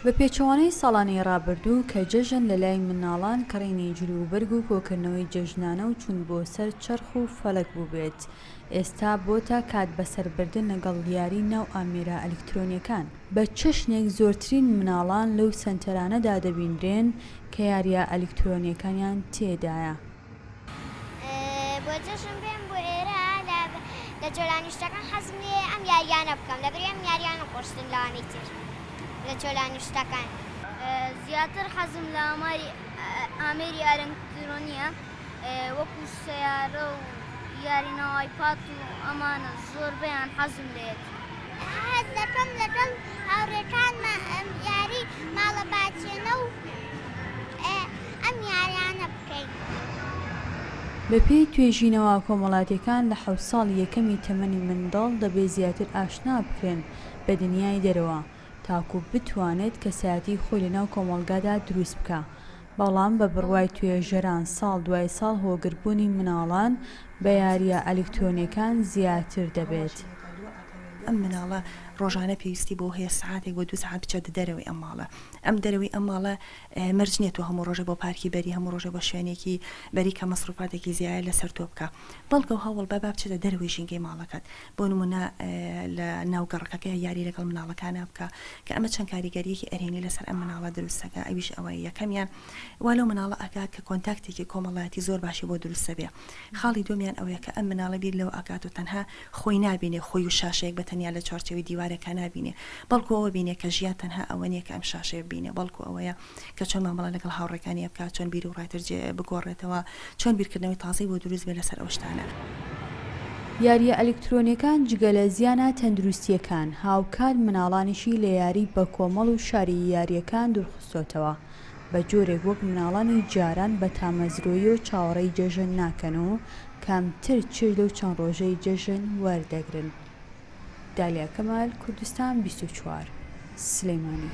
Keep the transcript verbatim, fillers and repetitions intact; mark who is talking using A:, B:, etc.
A: بە پێچەوانەی ساڵانی ڕابردوو کە جەژن لە لای مناڵان کڕینی جلوبەرگ و کۆکردنەوەی جەژنانە و چوون بۆ سەر چەرخ و فەلەک بووبێت، ئێستا بۆتە کات بەسەربردن لەگەڵ یاری ناو ئامێرە ئەلیکترۆنیەکان. بە چەشنێک زۆرترین مناڵان لەو سەنتەرانەدا دەبینرێن کە یاریە ئەلیکترۆنیەکانیان تێدایە.
B: بۆ جەژن بێم بۆ ئێرە لە جۆلانیشتەکان حەزم لێ ئەم یاریانە بکەم، لەبەر ئەم یاریانە خۆشتن لەوانەی تر لە جۆلانیشتەکان.
C: زیاتر حەزم لە ئامێری ئەلکترۆنیە وەکو سەیارە و یاری ناو ئایپاد و ئەمانە زۆربەیان حەزم لێت.
B: حەز دەکەم لەگەڵ هاوڕێکانمە یاری ماڵە باچێنە و ئەم یاریانە بکەین.
A: بەپێی توێژینەوە کۆمەڵاتیەکان لە حەوت ساڵی یەکەمی تەمەنی منداڵ دەبێت زیاتر ئاشنا بکرێن بە دنیای دەرەوە تاکو بتوانێت کەسایەتی خۆی لەناو کۆمەڵگادا دروست بکە. بەڵام بە بڕوای توێژەران ساڵ دوای ساڵ هۆگربوونی مناڵان بە یاریە ئەلیکترۆنیەکان زیاتر دەبێت.
D: ئەم مناڵە ڕۆژانە پێویستی بۆ هەیە سعاتێک بۆ دوو سعات بچێتە دەرەوەی ئەم ماڵە. ئەم دەرەوەی ئەم ماڵە مەرج نییە تۆ هەموو ڕۆژە بۆ پارکی بەری، هەموو ڕۆژە بۆ شوێنێکی بەری کە مەسروفاتێکی زیایە لەسەر تۆ بکە، بەڵکە هەوڵ بە با بچێتە دەرەوەی ژینگەی ماڵەکەت. بۆ نمونە لە ناو گەڕەکەکە یاری لەگەڵ مناڵەکانە بکە کە ئەمە چەند کاریگەریەکی ئەرێنی لەسەر ئەم مناڵە دروستەکە. ئەویش ئەوەیە یەکەمیان وا لەو مناڵە ئەکات کە کۆنتاکتێکی کۆمەڵایەتی زۆر باشی بۆ دروستە بێ. خاڵی دومیان ئەوەیە کە ئەم مناڵە بیر لەوە ئەکات و تەنها خۆی نابینێ، خۆی و شاشەیەک بە تەنیا لە چوارچێوەی دیوارێکا نابینێ، بەڵکو ئەوە بینێ کە ژیان تەنها ئەوە نییە کە ئەم شاشەیە بینێ، بەڵکو ئەوەیە کە چۆن مامەڵە لەگەڵ هاوڕێکانی بکات، چۆن بیر و ڕایتر بگۆڕێتەوە، چۆن بیرکردنەوەی تازەی بۆ دروست بێ لەسەر ئەو شتانە.
A: یاریە ئەلیکترۆنیەکان جگە لە زیانە تەندروستیەکان هاوکات مناڵانیشی لە یاری بە کۆمەڵ و شاری یاریەکان دوورخستۆتەوە، بە جۆرێک وەک مناڵانی جاران بە تامەزرۆیی و چاوەڕێی جەژن ناکەن و کەمتر چێژ لەو چەند ڕۆژەی جەژن وەردەگرن. دالیا کەمال، کوردستان بیست و چوار، سلێمانی.